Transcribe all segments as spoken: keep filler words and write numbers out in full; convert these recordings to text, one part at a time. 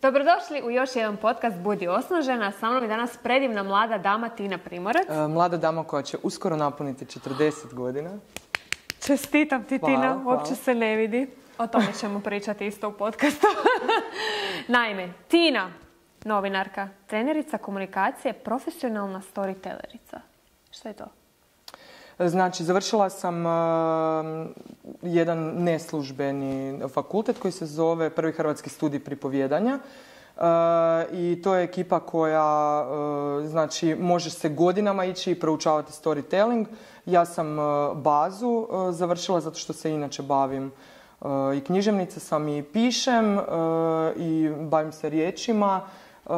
Dobrodošli u još jedan podcast Budi osnažena. Sa mnom je danas predivna mlada dama Tina Primorac. E, mlada dama koja će uskoro napuniti četrdeset godina. Čestitam ti, hvala, Tina. hvala. Uopće se ne vidi. O tome ćemo pričati isto u podcastu. Naime, Tina, novinarka, trenerica komunikacije, profesionalna storytellerica. Što je to? Znači, završila sam uh, jedan neslužbeni fakultet koji se zove Prvi hrvatski studij pripovjedanja. Uh, I to je ekipa koja uh, znači, može se godinama ići i proučavati storytelling. Ja sam uh, bazu uh, završila zato što se inače bavim uh, i književnica sam i pišem uh, i bavim se riječima. Uh,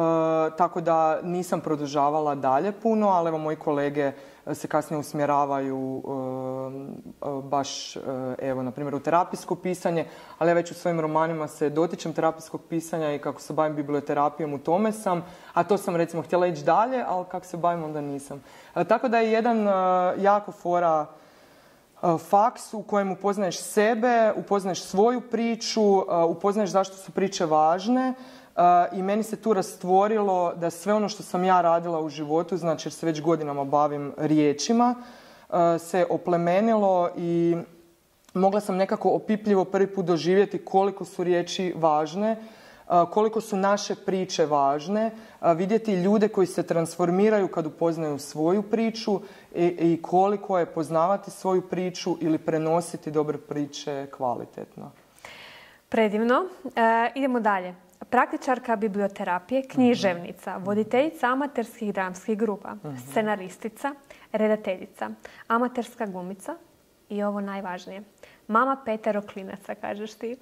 tako da nisam produžavala dalje puno, ali evo moji kolege se kasnije usmjeravaju uh, uh, baš, uh, evo, na primjer, u terapijsko pisanje, ali ja već u svojim romanima se dotičem terapijskog pisanja i kako se bavim biblioterapijom, u tome sam, a to sam, recimo, htjela ići dalje, ali kako se bavim, onda nisam. Uh, tako da je jedan uh, jako fora uh, faks u kojem upoznaješ sebe, upoznaješ svoju priču, uh, upoznaješ zašto su priče važne. Uh, I meni se tu rastvorilo da sve ono što sam ja radila u životu, znači jer se već godinama bavim riječima, uh, se oplemenilo i mogla sam nekako opipljivo prvi put doživjeti koliko su riječi važne, uh, koliko su naše priče važne, uh, vidjeti ljude koji se transformiraju kad upoznaju svoju priču i, i koliko je poznavati svoju priču ili prenositi dobre priče kvalitetno. Predivno. E, idemo dalje. Praktičarka biblioterapije, književnica, voditeljica amaterskih dramskih grupa, scenaristica, redateljica, amaterska glumica i ovo najvažnije, mama petero klinaca, kažeš ti.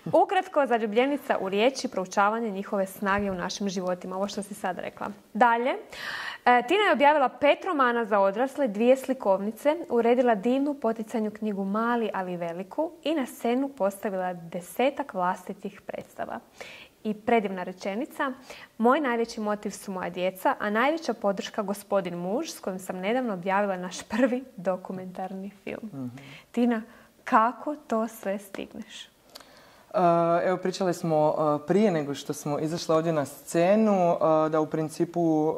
Ukratko, zaljubljenica u riječi, proučavanje njihove snage u našim životima, ovo što si sad rekla. Dalje, Tina je objavila pet romana za odrasle, dvije slikovnice, uredila divnu poticajnu knjigu Mali, ali veliku i na scenu postavila desetak vlastitih predstava. I predivna rečenica, moj najveći motiv su moja djeca, a najveća podrška gospodin muž, s kojim sam nedavno objavila naš prvi dokumentarni film. Mm-hmm. Tina, kako to sve stigneš? Uh, evo, pričali smo uh, prije nego što smo izašli ovdje na scenu uh, da u principu uh,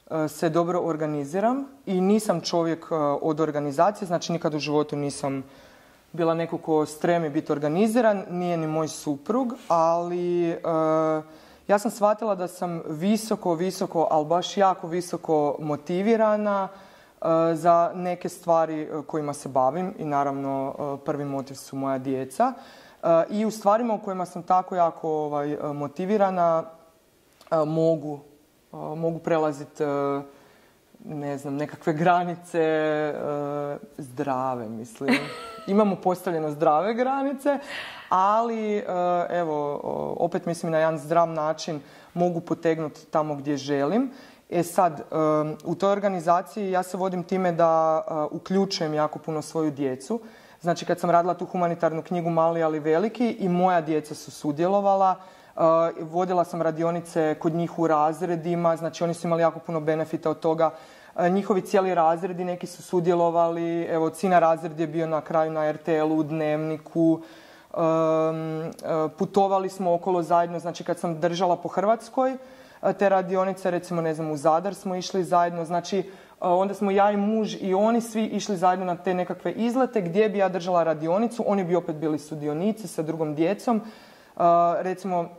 uh, se dobro organiziram i nisam čovjek uh, od organizacije, znači nikad u životu nisam bila neko ko stremi biti organiziran, nije ni moj suprug, ali uh, ja sam shvatila da sam visoko, visoko, ali baš jako visoko motivirana uh, za neke stvari kojima se bavim i naravno uh, prvi motiv su moja djeca. Uh, I u stvarima u kojima sam tako jako ovaj, motivirana uh, mogu, uh, mogu prelaziti uh, ne znam, nekakve granice uh, zdrave, mislim. Imamo postavljeno zdrave granice, ali uh, evo, opet mislim na jedan zdrav način mogu potegnuti tamo gdje želim. E sad, um, u toj organizaciji ja se vodim time da uh, uključujem jako puno svoju djecu. Znači, kad sam radila tu humanitarnu knjigu Mali, ali veliki, i moja djeca su sudjelovala. Uh, vodila sam radionice kod njih u razredima, znači oni su imali jako puno benefita od toga. Uh, njihovi cijeli razredi, neki su sudjelovali, evo, Cina razred je bio na kraju na er te el u, Dnevniku. Um, uh, putovali smo okolo zajedno, znači kad sam držala po Hrvatskoj uh, te radionice, recimo, ne znam, u Zadar smo išli zajedno, znači uh, onda smo ja i muž i oni svi išli zajedno na te nekakve izlete gdje bi ja držala radionicu, oni bi opet bili sudionici sa drugom djecom. Uh, recimo,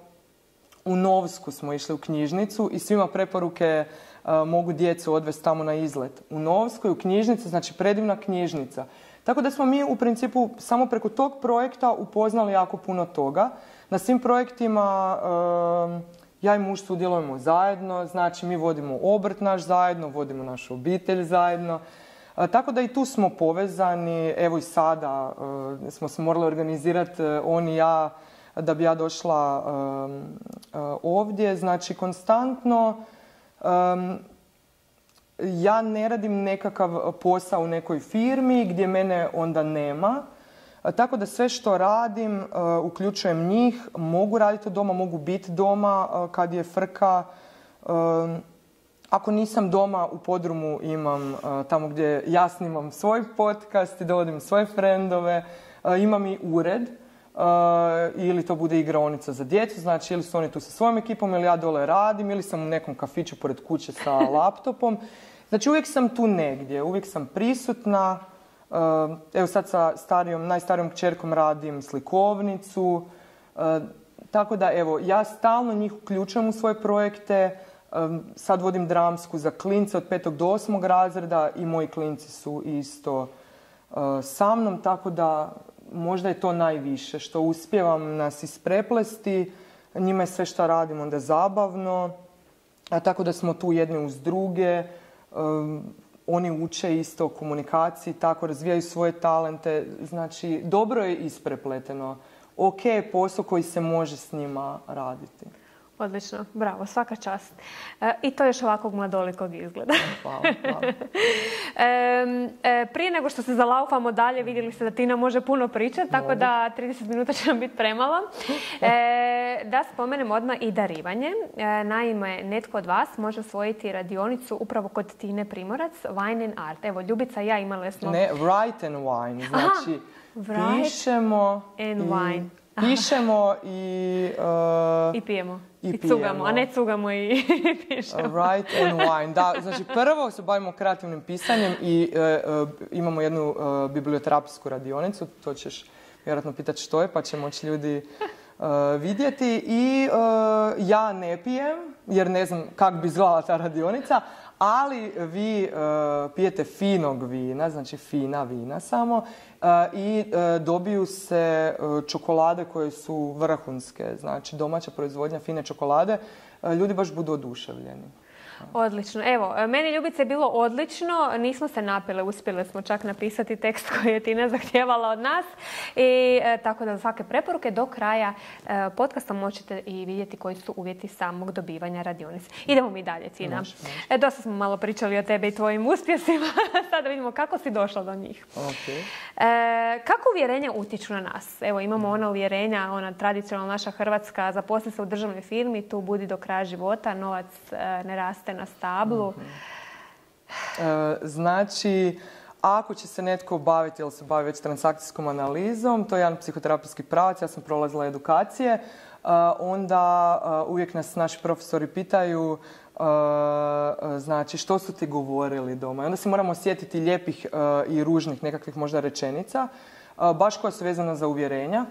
u Novsku smo išli u knjižnicu i svima preporuke uh, mogu djecu odvesti tamo na izlet. U Novskoj, u knjižnici, znači predivna knjižnica. Tako da smo mi u principu samo preko tog projekta upoznali jako puno toga. Na svim projektima uh, ja i muž sudjelujemo zajedno, znači mi vodimo obrt naš zajedno, vodimo našu obitelj zajedno. Uh, tako da i tu smo povezani, evo i sada uh, smo se morali organizirati, uh, on i ja, da bi ja došla um, uh, ovdje. Znači, konstantno um, ja ne radim nekakav posao u nekoj firmi gdje mene onda nema. Uh, tako da sve što radim, uh, uključujem njih, mogu raditi od doma, mogu biti doma uh, kad je frka. Um, ako nisam doma, u podrumu imam uh, tamo gdje ja snimam svoj podcast i dovodim svoje frendove. Uh, imam i ured. ili to bude igraonica za djecu, znači ili su oni tu sa svojom ekipom ili ja dole radim ili sam u nekom kafiću pored kuće sa laptopom. Znači uvijek sam tu negdje, uvijek sam prisutna. Evo sad sa starijom, najstarijom kćerkom radim slikovnicu. Tako da evo, ja stalno njih uključujem u svoje projekte. Sad vodim dramsku za klince od petog do osmog razreda i moji klinci su isto sa mnom, tako da možda je to najviše, što uspijevam nas ispreplesti, njima je sve što radim onda zabavno, a tako da smo tu jedni uz druge, um, oni uče isto o komunikaciji, tako razvijaju svoje talente, znači dobro je isprepleteno, ok je posao koji se može s njima raditi. Odlično, bravo, svaka čast. E, I to još ovakvog mladolikog izgleda. Hvala, hvala. e, e, prije nego što se zalaufamo dalje, vidjeli ste da Tina može puno pričati, tako da trideset minuta će nam biti premalo. E, da spomenem odmah i darivanje. E, naime, netko od vas može osvojiti radionicu upravo kod Tine Primorac, Wine and Art. Evo, Ljubica i ja imali smo... Ne, Write and Wine, znači Aha, pišemo and i... wine. Pišemo i... Uh, I pijemo. I, I pijemo. cugamo, a ne cugamo i pišemo. Write and wine. Da, znači prvo se bavimo kreativnim pisanjem i uh, uh, imamo jednu uh, biblioterapijsku radionicu. To ćeš vjerojatno pitati što je, pa će moći ljudi uh, vidjeti. I uh, ja ne pijem, jer ne znam kako bi izgledala ta radionica, ali vi uh, pijete finog vina, znači fina vina samo, uh, i uh, dobiju se uh, čokolade koje su vrhunske, znači domaća proizvodnja fine čokolade, uh, ljudi baš budu oduševljeni. Odlično. Evo, meni Ljubice je bilo odlično. Nismo se napile, uspjeli smo čak napisati tekst koji je Tina zahtijevala od nas. I e, tako da za svake preporuke do kraja e, podcasta možete i vidjeti koji su uvjeti samog dobivanja radionice. Idemo mi dalje, Tina. Može, može. E, dosta smo malo pričali o tebi i tvojim uspjesima. Sada vidimo kako si došla do njih. Okay. E, kako uvjerenja utječu na nas? Evo, imamo ona uvjerenja, ona tradicionalna naša hrvatska, zaposli se u državnoj firmi, tu budi do kraja života, novac e, ne raste na stablu. Mm-hmm. E, znači, ako će se netko baviti ili se bavi već transakcijskom analizom, to je jedan psihoterapijski pravac, ja sam prolazila edukacije, e, onda e, uvijek nas naši profesori pitaju e, znači što su ti govorili doma. I onda se moramo sjetiti lijepih e, i ružnih nekakvih možda rečenica, e, baš koja su vezana za uvjerenja.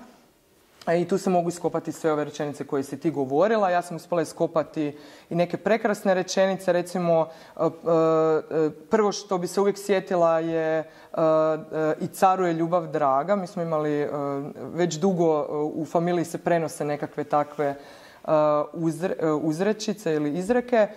I tu se mogu iskopati sve ove rečenice koje si ti govorila. Ja sam uspjela iskopati i neke prekrasne rečenice. Recimo, prvo što bi se uvijek sjetila je i caru je ljubav draga. Mi smo imali već dugo u familiji se prenose nekakve takve uzrečice ili izreke.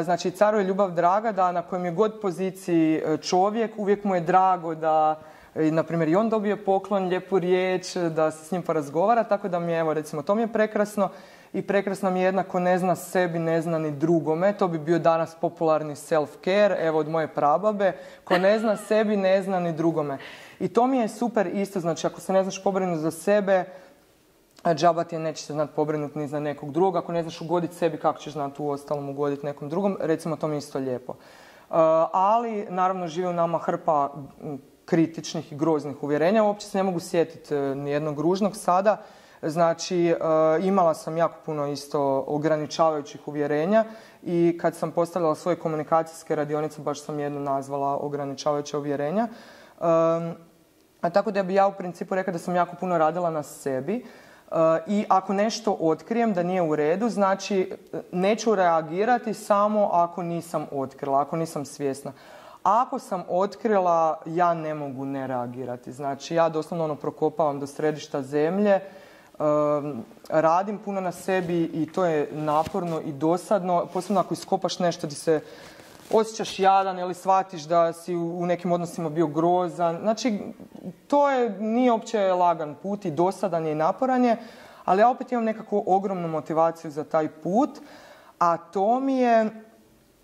Znači, caru je ljubav draga, da na kojem je god poziciji čovjek, uvijek mu je drago da i, na primjer, i on dobije poklon, lijepu riječ, da se s njim porazgovara, tako da mi je, evo, recimo, to mi je prekrasno. I prekrasno mi je jednako ne zna sebi, ne zna ni drugome. To bi bio danas popularni self-care, evo, od moje prababe. Ko ne zna sebi, ne zna ni drugome. I to mi je super isto, znači, ako se ne znaš pobrinuti za sebe, džaba ti je, neće se znati pobrinuti ni za nekog drugog. Ako ne znaš ugoditi sebi, kako ćeš znati u ostalom ugoditi nekom drugom, recimo, to mi je isto lijepo. Uh, ali, naravno, živi u nama hrpa kritičnih i groznih uvjerenja. Uopće se ne mogu sjetiti nijednog ružnog sada. Znači, imala sam jako puno isto ograničavajućih uvjerenja i kad sam postavljala svoje komunikacijske radionice, baš sam jednu nazvala ograničavajuća uvjerenja. A tako da bi ja u principu rekla da sam jako puno radila na sebi. I ako nešto otkrijem da nije u redu, znači neću reagirati samo ako nisam otkrila, ako nisam svjesna. Ako sam otkrila, ja ne mogu ne reagirati. Znači, ja doslovno ono prokopavam do središta zemlje, um, radim puno na sebi i to je naporno i dosadno. Posebno ako iskopaš nešto gdje se osjećaš jadan ili shvatiš da si u nekim odnosima bio grozan. Znači, to je, nije uopće lagan put i dosadan je i naporan je, ali ja opet imam nekakvu ogromnu motivaciju za taj put, a to mi je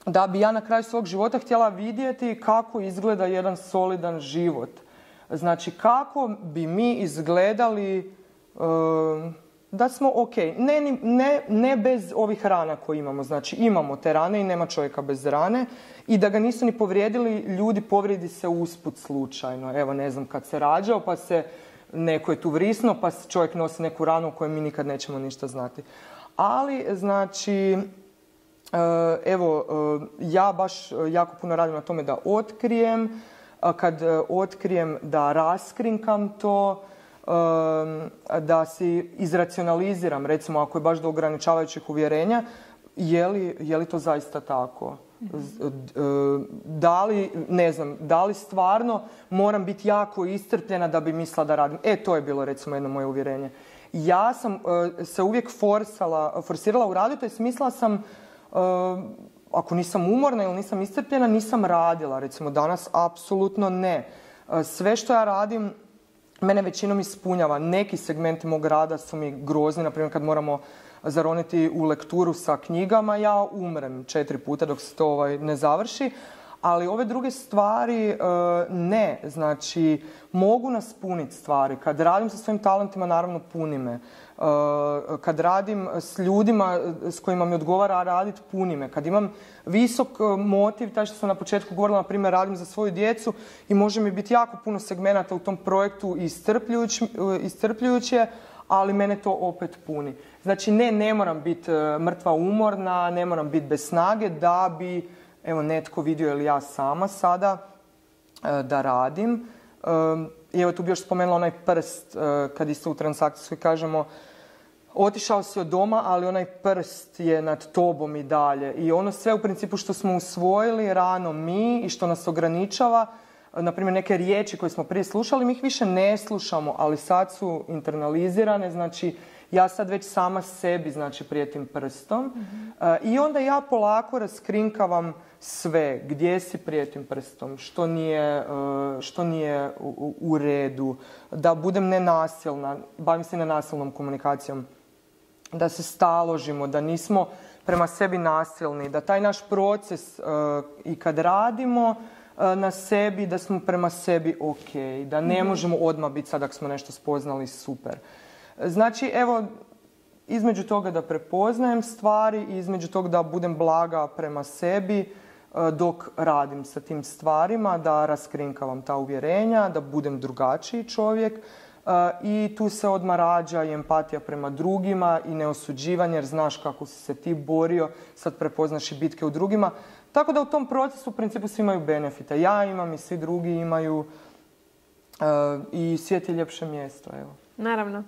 da bi ja na kraju svog života htjela vidjeti kako izgleda jedan solidan život. Znači, kako bi mi izgledali um, da smo ok. Ne, ne, ne bez ovih rana koje imamo. Znači, imamo te rane i nema čovjeka bez rane. I da ga nisu ni povrijedili, ljudi povrijedi se usput slučajno. Evo, ne znam, kad se rađao pa se neko je tu vrisno, pa čovjek nosi neku ranu o kojoj mi nikad nećemo ništa znati. Ali, znači, evo, ja baš jako puno radim na tome da otkrijem, kad otkrijem da raskrinkam to, da si izracionaliziram, recimo ako je baš do ograničavajućih uvjerenja, je li, je li to zaista tako? Da li, ne znam, da li stvarno moram biti jako iscrpljena da bi mislila da radim? E, to je bilo recimo jedno moje uvjerenje. Ja sam uh, se uvijek forsala, forsirala u radu, to je mislila sam, uh, ako nisam umorna ili nisam iscrpljena, nisam radila. Recimo danas apsolutno ne. Uh, sve što ja radim, mene većinom ispunjava. Neki segmenti mog rada su mi grozni, na primjer kad moramo zaroniti u lekturu sa knjigama, ja umrem četiri puta dok se to ovaj, ne završi. Ali ove druge stvari ne, znači mogu nas puniti stvari. Kad radim sa svojim talentima, naravno puni me. Kad radim s ljudima s kojima mi odgovara raditi, puni me. Kad imam visok motiv, taj što sam na početku govorila, na primjer radim za svoju djecu i može mi biti jako puno segmenata u tom projektu iscrpljujuće, ali mene to opet puni. Znači ne, ne moram biti mrtva umorna, ne moram biti bez snage da bi evo netko vidio ili ja sama sada da radim. I evo tu bi još spomenula onaj prst, kad isto u transakcijskoj kažemo otišao si od doma, ali onaj prst je nad tobom i dalje. I ono sve u principu što smo usvojili rano mi i što nas ograničava, na primjer neke riječi koje smo prije slušali, mi ih više ne slušamo, ali sad su internalizirane, znači ja sad već sama sebi znači prijetim prstom. Mm-hmm. uh, i onda ja polako raskrinkavam sve, gdje si prijetim prstom, što nije, uh, što nije u, u redu, da budem nenasilna, bavim se nenasilnom komunikacijom, da se staložimo, da nismo prema sebi nasilni, da taj naš proces uh, i kad radimo uh, na sebi, da smo prema sebi ok, da ne mm-hmm. možemo odmah biti sad ako smo nešto spoznali super. Znači, evo, između toga da prepoznajem stvari i između toga da budem blaga prema sebi dok radim sa tim stvarima, da raskrinkavam ta uvjerenja, da budem drugačiji čovjek i tu se odmah rađa i empatija prema drugima i neosuđivanje jer znaš kako si se ti borio, sad prepoznaš i bitke u drugima. Tako da u tom procesu u principu svi imaju benefite. Ja imam i svi drugi imaju i svijet je ljepše mjesto, evo. Naravno.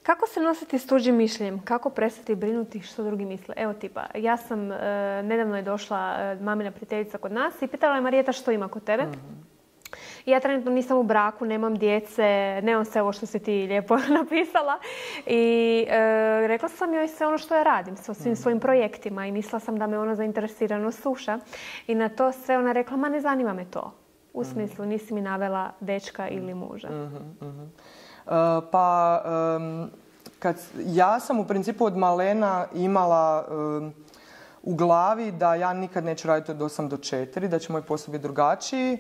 Kako se nositi s tuđim mišljenjem? Kako prestati brinuti što drugi misle? Evo tipa, ja sam, e, nedavno je došla e, mamina prijateljica kod nas i pitala je Marijeta što ima kod tebe. Mm-hmm. Ja trenutno nisam u braku, nemam djece, nemam sve ovo što si ti lijepo napisala. I e, rekla sam joj sve ono što ja radim sa svim svojim projektima i mislila sam da me ona zainteresirano sluša. I na to sve ona rekla, ma ne zanima me to. U smislu, nisi mi navela dečka ili muža. Mm-hmm, mm-hmm. Uh, pa um, kad, ja sam u principu od malena imala um, u glavi da ja nikad neću raditi od osam do četiri, da će moj posao biti drugačiji,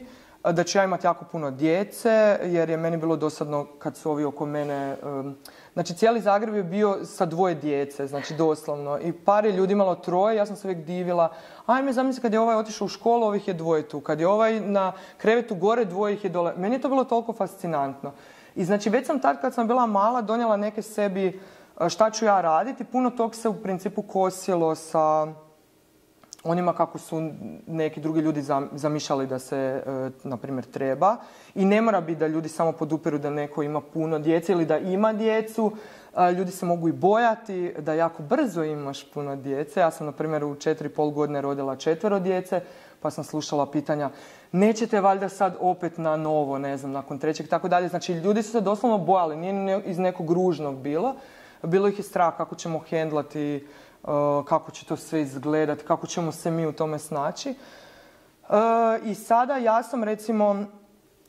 da ću ja imati jako puno djece jer je meni bilo dosadno kad su ovi oko mene, um, znači cijeli Zagreb je bio sa dvoje djece, znači doslovno i par je ljudi imalo troje, ja sam se uvijek divila, ajme zamisli kad je ovaj otišao u školu, ovih je dvoje tu, kad je ovaj na krevetu gore, dvoje ih je dole, meni je to bilo toliko fascinantno. I znači već sam tad kad sam bila mala donijela neke sebi šta ću ja raditi. Puno tog se u principu kosilo sa onima kako su neki drugi ljudi zamišljali da se, na primjer, treba. I ne mora biti da ljudi samo podupiru da neko ima puno djece ili da ima djecu. Ljudi se mogu i bojati da jako brzo imaš puno djece. Ja sam, na primjer, u četiri i pol godine rodila četvero djece, pa sam slušala pitanja nećete valjda sad opet na novo, ne znam, nakon trećeg, tako dalje. Znači, ljudi su se doslovno bojali, nije iz nekog ružnog bilo. Bilo ih je strah kako ćemo hendlati, kako će to sve izgledati, kako ćemo se mi u tome snaći. I sada ja sam, recimo,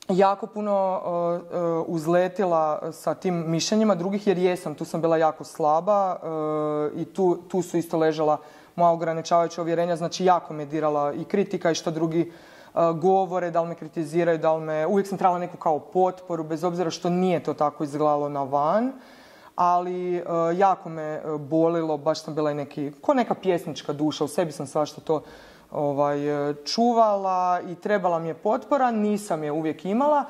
jako puno uzletila sa tim mišljenjima drugih, jer jesam, tu sam bila jako slaba i tu, tu su isto ležala moja ograničavajuća uvjerenja, znači jako me dirala i kritika i što drugi uh, govore, da li me kritiziraju, da li me... Uvijek sam trebala neku kao potporu, bez obzira što nije to tako izgledalo na van, ali uh, jako me bolilo, baš sam bila i neki, ko neka pjesnička duša, u sebi sam svašta to ovaj, čuvala i trebala mi je potpora, nisam je uvijek imala,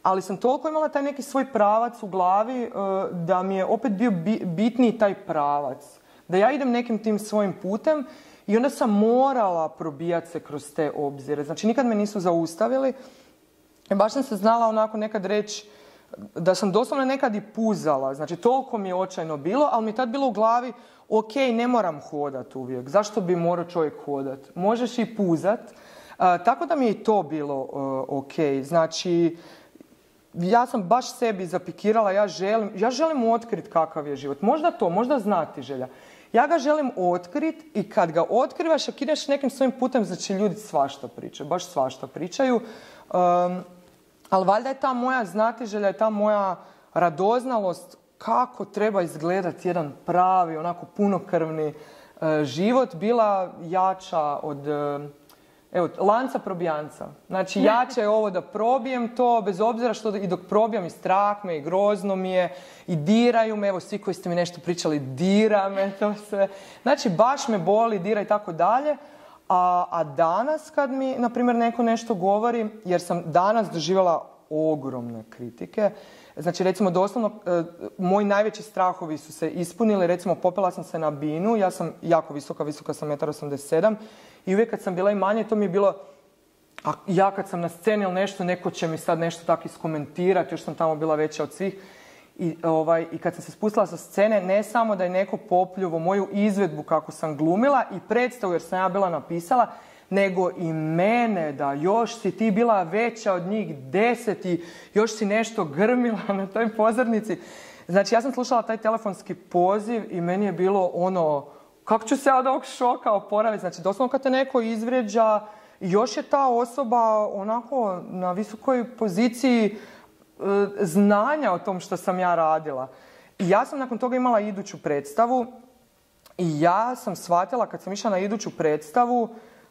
ali sam toliko imala taj neki svoj pravac u glavi da mi je opet bio bitniji taj pravac. Da ja idem nekim tim svojim putem i onda sam morala probijati se kroz te obzire. Znači, nikad me nisu zaustavili. I baš sam se znala onako nekad reći da sam doslovno nekad i puzala. Znači, toliko mi je očajno bilo, ali mi je tad bilo u glavi, ok, ne moram hodat uvijek. Zašto bi morao čovjek hodat? Možeš i puzat. Uh, tako da mi je i to bilo uh, ok. Znači, ja sam baš sebi zapikirala, ja želim, ja želim otkriti kakav je život. Možda to, možda znati želja. Ja ga želim otkriti i kad ga otkrivaš, ako ideš nekim svojim putem, znači ljudi svašta pričaju, baš svašta pričaju. Um, ali valjda je ta moja znatiželja i ta moja radoznalost kako treba izgledati jedan pravi, onako punokrvni uh, život bila jača od uh, evo, lanca probijanca. Znači, jače je ovo da probijem to, bez obzira što i dok probijam i strah me i grozno mi je i diraju me, evo svi koji ste mi nešto pričali, dira me to sve. Znači, baš me boli, dira i tako dalje. A, a danas kad mi, na primjer, neko nešto govori, jer sam danas doživjela ogromne kritike, znači, recimo, doslovno, e, moji najveći strahovi su se ispunili. Recimo, popela sam se na binu, ja sam jako visoka, visoka sam jedan osamdeset sedam i uvijek kad sam bila i manje, to mi je bilo, a ja kad sam na sceni ili nešto, neko će mi sad nešto tako iskomentirati, još sam tamo bila veća od svih. I, ovaj, I kad sam se spustila sa scene, ne samo da je neko popljuvo moju izvedbu kako sam glumila i predstavu jer sam ja bila napisala, nego i mene, da još si ti bila veća od njih deset i još si nešto grmila na toj pozornici. Znači, ja sam slušala taj telefonski poziv i meni je bilo ono, kako ću se od ovog šoka oporaviti? Znači, doslovno kad te neko izvrijeđa, još je ta osoba onako na visokoj poziciji e, znanja o tom što sam ja radila. I ja sam nakon toga imala iduću predstavu i ja sam shvatila kad sam išla na iduću predstavu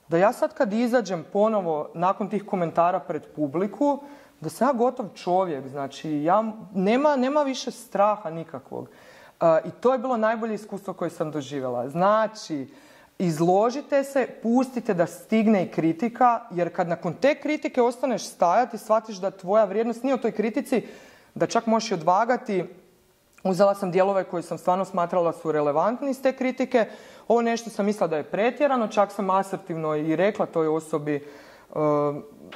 da ja sad kad izađem ponovo nakon tih komentara pred publiku, da sam ja gotov čovjek. Znači, ja, nema, nema više straha nikakvog. Uh, I to je bilo najbolje iskustvo koje sam doživjela. Znači, izložite se, pustite da stigne i kritika, jer kad nakon te kritike ostaneš stajati, shvatiš da tvoja vrijednost nije u toj kritici, da čak možeš i odvagati. Uzela sam dijelove koje sam stvarno smatrala su relevantni iz te kritike. Ovo nešto sam mislila da je pretjerano, čak sam asertivno i rekla toj osobi uh,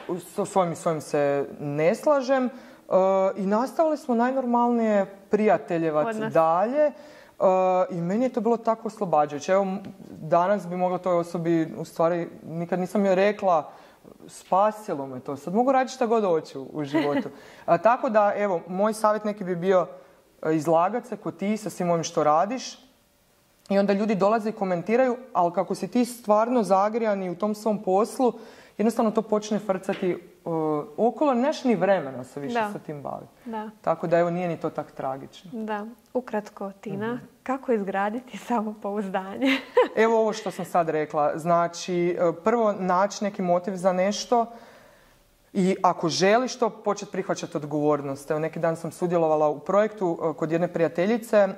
s svojim i svojim se ne slažem. Uh, I nastavili smo najnormalnije prijateljevac dalje. Uh, I meni je to bilo tako oslobađajuće. Evo, danas bi mogla toj osobi, u stvari, nikad nisam joj rekla, spasilo me to. Sad mogu raditi šta god hoću u životu. Uh, tako da, evo, moj savjet neki bi bio izlagat se ko ti sa svim ovim što radiš i onda ljudi dolaze i komentiraju, ali kako si ti stvarno zagrijani u tom svom poslu, jednostavno to počne frcati uh, okolo, neš ni vremena se više da. sa tim baviti. Da. Tako da evo nije ni to tak tragično. Da, ukratko Tina, mm-hmm. kako izgraditi samopouzdanje? Evo ovo što sam sad rekla, znači prvo naći neki motiv za nešto. I ako želiš to, početi prihvaćati odgovornost. Evo, neki dan sam sudjelovala u projektu kod jedne prijateljice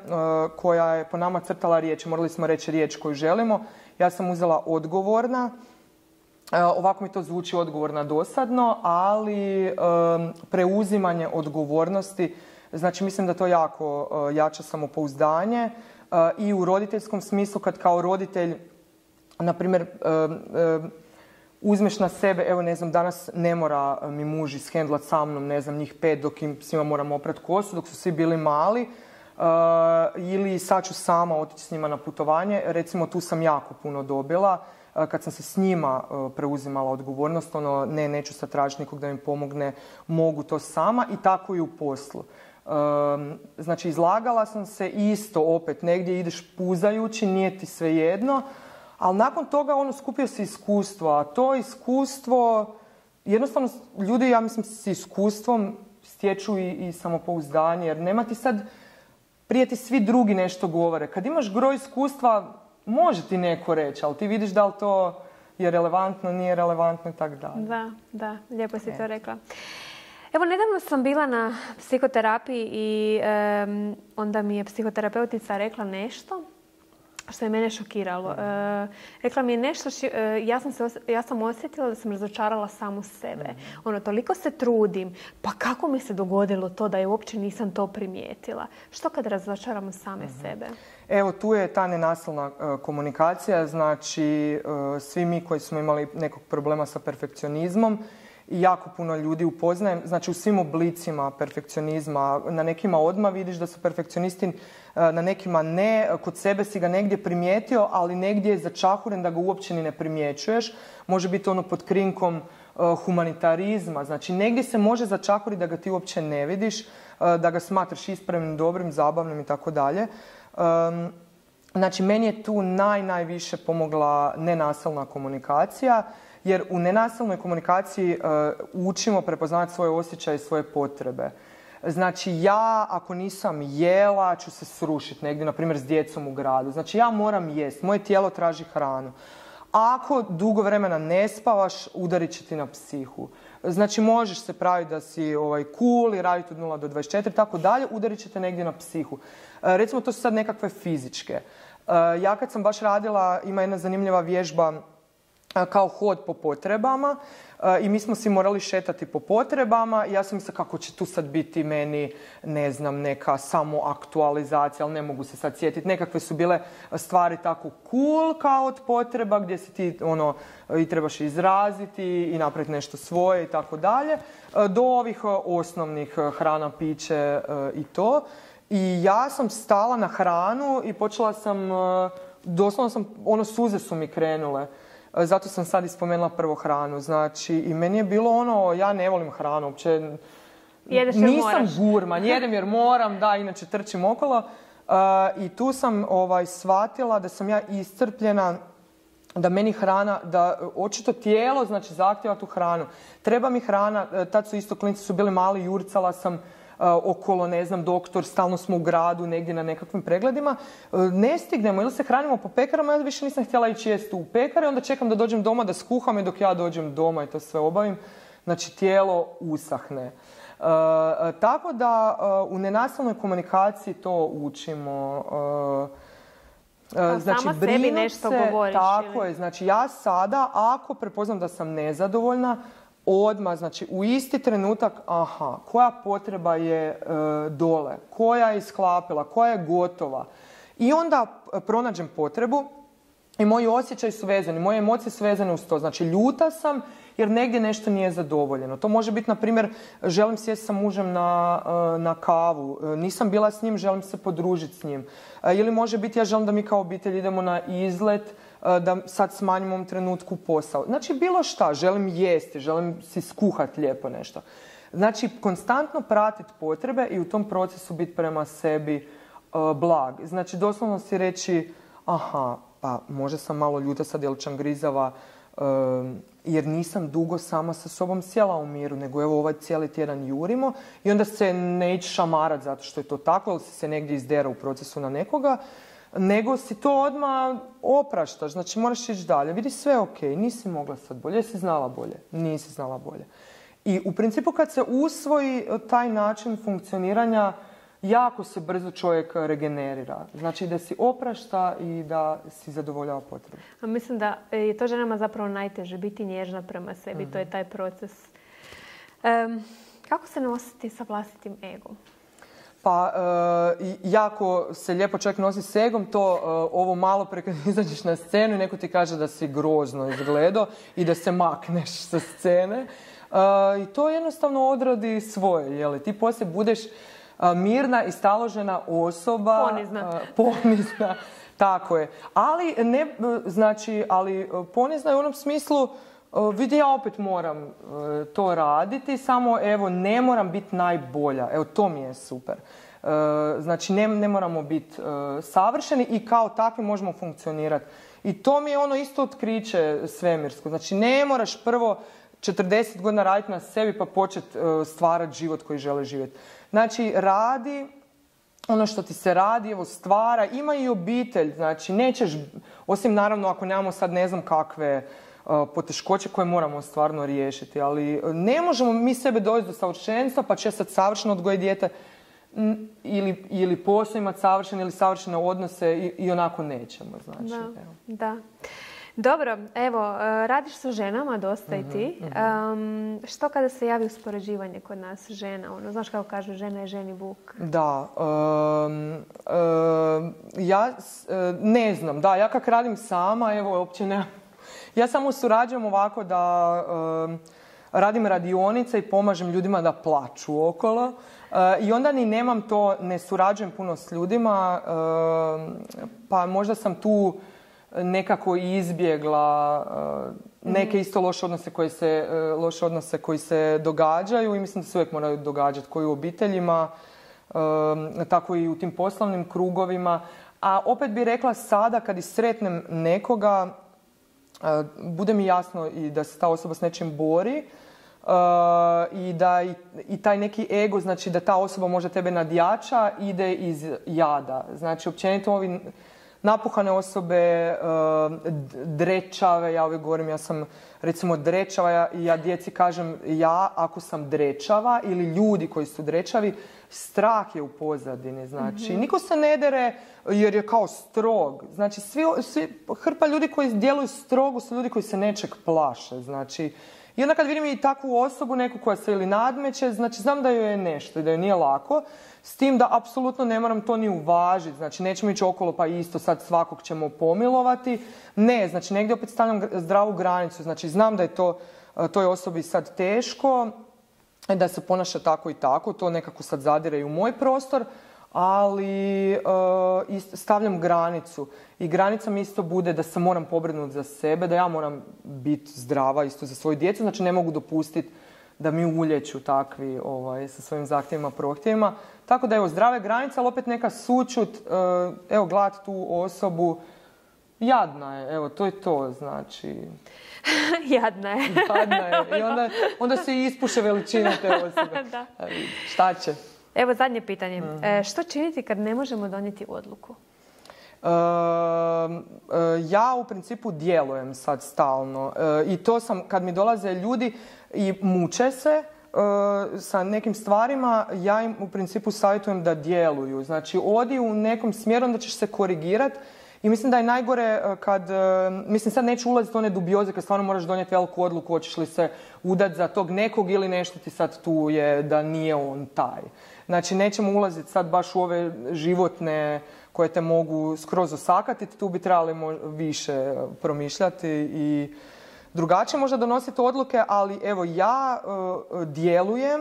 koja je po nama crtala riječ. Morali smo reći riječ koju želimo. Ja sam uzela odgovorna. Ovako mi to zvuči odgovorna dosadno, ali preuzimanje odgovornosti, znači mislim da to jako jača samopouzdanje i u roditeljskom smislu kad kao roditelj, na primjer, uzmeš na sebe, evo ne znam, danas ne mora mi muž ishendlat sa mnom, ne znam, njih pet dok im svima moram oprat kosu, dok su svi bili mali, uh, ili sad ću sama otići s njima na putovanje. Recimo, tu sam jako puno dobila. Uh, kad sam se s njima uh, preuzimala odgovornost, ono, ne, neću sad tražiti nikog da mi pomogne, mogu to sama i tako i u poslu. Uh, znači, izlagala sam se isto opet, negdje ideš puzajući, nije ti svejedno. Ali nakon toga ono skupio se iskustvo, a to iskustvo, jednostavno ljudi, ja mislim, s iskustvom stječu i, i samopouzdanje, jer nema ti sad, prije ti svi drugi nešto govore. Kad imaš gro iskustva, može ti neko reći, ali ti vidiš da li to je relevantno, nije relevantno i tako dalje. Da, da, lijepo si to rekla. Evo, nedavno sam bila na psihoterapiji i um, onda mi je psihoterapeutica rekla nešto što je mene šokiralo. E, rekla mi je nešto, ši, e, ja, sam se, ja sam osjetila da sam razočarala samu sebe. Mm-hmm. Ono, toliko se trudim, pa kako mi se dogodilo to da je uopće nisam to primijetila? Što kad razočaramo same mm-hmm. sebe? Evo, tu je ta nenasilna uh, komunikacija, znači uh, svi mi koji smo imali nekog problema sa perfekcionizmom, i jako puno ljudi upoznajem, znači u svim oblicima perfekcionizma, na nekima odmah vidiš da su perfekcionisti, na nekima ne, kod sebe si ga negdje primijetio, ali negdje je začahuren da ga uopće ni ne primjećuješ. Može biti ono pod krinkom uh, humanitarizma, znači negdje se može začahuriti da ga ti uopće ne vidiš, uh, da ga smatraš ispravnim, dobrim, zabavnim i tako dalje. Um, znači meni je tu naj, najviše pomogla nenasilna komunikacija, jer u nenasilnoj komunikaciji uh, učimo prepoznavati svoje osjećaje i svoje potrebe. Znači ja ako nisam jela ću se srušiti negdje, na primjer s djecom u gradu. Znači ja moram jest, moje tijelo traži hranu. Ako dugo vremena ne spavaš, udarit će ti na psihu. Znači možeš se praviti da si ovaj, cool i raditi od nula do dvadeset četiri, tako dalje, udarit će te negdje na psihu. Uh, recimo to su sad nekakve fizičke. Uh, ja kad sam baš radila, ima jedna zanimljiva vježba kao hod po potrebama i mi smo si morali šetati po potrebama i ja sam mislila kako će tu sad biti meni, ne znam, neka samoaktualizacija, ali ne mogu se sad sjetiti. Nekakve su bile stvari tako cool kao od potreba gdje si ti ono, i trebaš izraziti i napraviti nešto svoje i tako dalje, do ovih osnovnih hrana, piće i to. I ja sam stala na hranu i počela sam, doslovno sam, ono suze su mi krenule. Zato sam sad ispomenula prvo hranu. Znači, i meni je bilo ono, ja ne volim hranu, uopće jedeš jer nisam moraš. gurman, jedem jer moram, da, inače trčim okolo. Uh, I tu sam ovaj, shvatila da sam ja iscrpljena, da meni hrana, da očito tijelo, znači, zahtjeva tu hranu. Treba mi hrana, tad su isto klinci su bili mali, jurcala sam Uh, okolo, ne znam, doktor, stalno smo u gradu, negdje na nekakvim pregledima. Uh, ne stignemo, ili se hranimo po pekarama, ja više nisam htjela ići jesti u pekare, onda čekam da dođem doma da skuham i dok ja dođem doma i to sve obavim, znači tijelo usahne. Uh, uh, tako da uh, u nenasilnoj komunikaciji to učimo. Uh, uh, znači, sama sebi nešto se, govoriš. Tako ili? je, znači ja sada, ako prepoznam da sam nezadovoljna, odmah, znači u isti trenutak, aha, koja potreba je e, dole, koja je isklapila, koja je gotova. I onda pronađem potrebu i moji osjećaji su vezani, moje emocije su vezane uz to. Znači ljuta sam jer negdje nešto nije zadovoljeno. To može biti, na primjer, želim sjesti sa mužem na, na kavu, nisam bila s njim, želim se podružiti s njim. Ili može biti, ja želim da mi kao obitelj idemo na izlet, da sad smanjim u ovom trenutku posao. Znači bilo šta, želim jesti, želim si skuhati lijepo nešto. Znači konstantno pratiti potrebe i u tom procesu biti prema sebi uh, blag. Znači doslovno si reći, aha, pa možda sam malo ljuta sad jer čangrizava, uh, jer nisam dugo sama sa sobom sjela u miru, nego evo ovaj cijeli tjedan jurimo i onda se ne ići šamarat zato što je to tako, ili si se negdje izdera u procesu na nekoga, nego si to odmah opraštaš, znači moraš ići dalje. Vidi, sve ok, nisi mogla sad bolje, jesi znala bolje, nisi znala bolje. I u principu kad se usvoji taj način funkcioniranja, jako se brzo čovjek regenerira. Znači da si oprašta i da si zadovoljava potrebe. A mislim da je to ženama zapravo najteže, biti nježna prema sebi, mm-hmm. to je taj proces. Um, kako se nositi sa vlastitim egom? Pa, e, jako se lijepo čovjek nosi s egom, to e, ovo malo pre kad izađeš na scenu i neko ti kaže da si grozno izgledao i da se makneš sa scene. E, I to jednostavno odradi svoje, jeli? Ti poslije budeš a, mirna i staložena osoba. Ponizna. A, ponizna, tako je. Ali, ne, znači, ali ponizna je u onom smislu, vidi, ja opet moram uh, to raditi, samo evo ne moram biti najbolja. Evo to mi je super. Uh, znači ne, ne moramo biti uh, savršeni i kao takvi možemo funkcionirati. I to mi je ono isto otkriće svemirsko. Znači ne moraš prvo četrdeset godina raditi na sebi pa početi uh, stvarati život koji žele živjeti. Znači radi ono što ti se radi, evo stvara, ima i obitelj. Znači nećeš, osim naravno ako nemamo sad ne znam kakve poteškoće koje moramo stvarno riješiti, ali ne možemo mi sebe dovesti do savršenstva pa će sad savršeno odgojiti dijete. ili, ili posao imati savršene ili savršene odnose i, i onako nećemo. Znači, da, evo. da. Dobro, evo, radiš sa ženama dosta i ti. Um, što kada se javi uspoređivanje kod nas žena? Ono, znaš kako kažu, žena je ženi vuk. Da. Um, um, ja ne znam. Da, ja kak radim sama, evo, uopće ne... Ja samo surađujem ovako da um, radim radionice i pomažem ljudima da plaču okolo. Uh, I onda ni nemam to, ne surađujem puno s ljudima, uh, pa možda sam tu nekako izbjegla uh, neke isto loše odnose koji se, uh, loše odnose koji se događaju i mislim da se uvijek moraju događati, koji u obiteljima, uh, tako i u tim poslovnim krugovima. A opet bih rekla sada kad i sretnem nekoga, uh, bude mi jasno i da se ta osoba s nečim bori, Uh, i da i, i taj neki ego, znači da ta osoba možda tebe nadjača, ide iz jada. Znači, općenito ovi napuhane osobe, uh, drečave, ja uvijek govorim, ja sam recimo drečava, ja, ja djeci kažem, ja ako sam drečava ili ljudi koji su drečavi, strah je u pozadini, znači. Mm-hmm. Niko se ne dere jer je kao strog. Znači, svi, svi, hrpa ljudi koji djeluju strogo su ljudi koji se nečeg plaše, znači. I onda kad vidim i takvu osobu, neku koja se ili nadmeće, znači znam da joj je nešto i da joj nije lako, s tim da apsolutno ne moram to ni uvažiti, znači nećemo ići okolo pa isto sad svakog ćemo pomilovati. Ne, znači negdje opet stavljam zdravu granicu, znači znam da je to toj osobi sad teško, da se ponaša tako i tako, to nekako sad zadire i u moj prostor, ali uh, stavljam granicu. I granica mi isto bude da se moram pobrinuti za sebe, da ja moram biti zdrava isto za svoju djecu, znači ne mogu dopustiti da mi uljeću takvi ovaj, sa svojim zahtjevima, prohtjevima. Tako da evo, zdrave granice, ali opet neka sućut, uh, evo, gledati tu osobu, jadna je, evo, to je to, znači... Jadna je. Jadna je. I onda, onda se ispuše veličina te osobe. Da. Šta će? Evo zadnje pitanje. Mm-hmm. E, što činiti kad ne možemo donijeti odluku? E, e, ja u principu djelujem sad stalno. E, I to sam, kad mi dolaze ljudi i muče se e, sa nekim stvarima, ja im u principu savjetujem da djeluju. Znači, odi u nekom smjeru, onda ćeš se korigirati. I mislim da je najgore kad, mislim sad neću ulaziti u one dubioze kad stvarno moraš donijeti veliku odluku hoćeš li se udati za tog nekog ili nešto ti sad tu je da nije on taj. Znači nećemo ulaziti sad baš u ove životne koje te mogu skroz osakatiti, tu bi trebali više promišljati i drugačije možda donositi odluke, ali evo ja uh, djelujem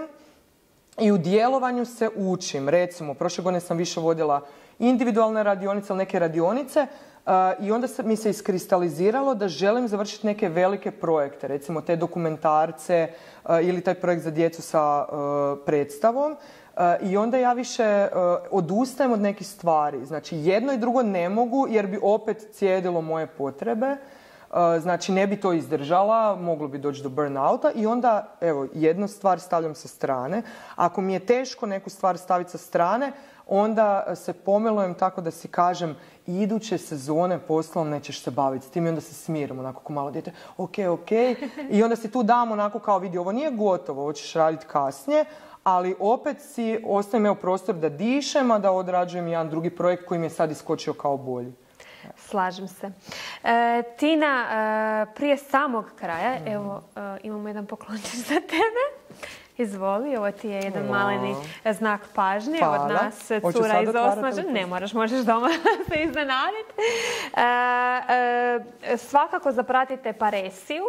i u djelovanju se učim. Recimo, prošle godine sam više vodila individualne radionice ili neke radionice uh, i onda se, mi se iskristaliziralo da želim završiti neke velike projekte, recimo te dokumentarce uh, ili taj projekt za djecu sa uh, predstavom. Uh, I onda ja više uh, odustajem od nekih stvari. Znači, jedno i drugo ne mogu jer bi opet cijedilo moje potrebe. Uh, znači, ne bi to izdržala, moglo bi doći do burnouta i onda, evo, jednu stvar stavljam sa strane. Ako mi je teško neku stvar staviti sa strane, onda se pomilujem tako da si kažem iduće sezone poslom nećeš se baviti s tim i onda se smirim onako ko malo dijete, ok, ok. I onda si tu dam onako kao vidi, ovo nije gotovo, ovo ćeš raditi kasnije, ali opet si ostavim evo prostor da dišem, a da odrađujem jedan drugi projekt koji mi je sad iskočio kao bolji. Slažem se. E, Tina, e, prije samog kraja, mm. evo, e, imamo jedan poklončić za tebe. Izvoli, ovo ti je jedan wow. maleni znak pažnje Hvala. Od nas, cura iz Osmaže. Ne moraš, možeš doma se iznenaditi. E, e, svakako zapratite Paresiju.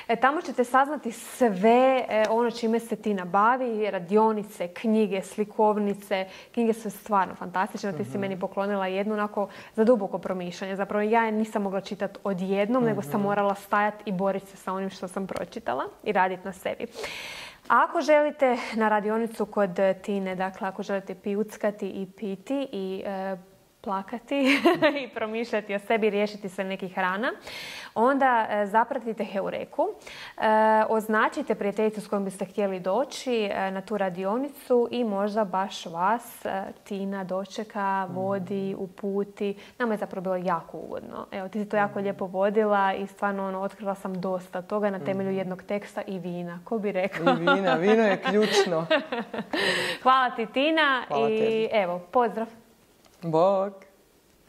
E, tamo ćete saznati sve e, ono čime se Tina bavi, radionice, knjige, slikovnice. Knjige su stvarno fantastične. Mm-hmm. Ti si meni poklonila jednu onako za duboko promišljanje. Zapravo ja je nisam mogla čitati odjednom, mm-hmm. nego sam morala stajati i boriti se sa onim što sam pročitala i raditi na sebi. Ako želite na radionicu kod Tine, dakle ako želite pijuckati i piti i e, plakati i promišljati o sebi, riješiti se nekih rana, onda e, zapratite Heureku, e, označite prijateljicu s kojom biste htjeli doći e, na tu radionicu i možda baš vas e, Tina dočeka, vodi, uputi. Nama je zapravo bilo jako ugodno. Evo, ti si to jako lijepo vodila i stvarno ono, otkrila sam dosta toga na temelju jednog teksta i vina. Ko bi rekao? I vina, vino je ključno. Hvala ti, Tina. Hvala i tebi. evo, pozdrav. Bog!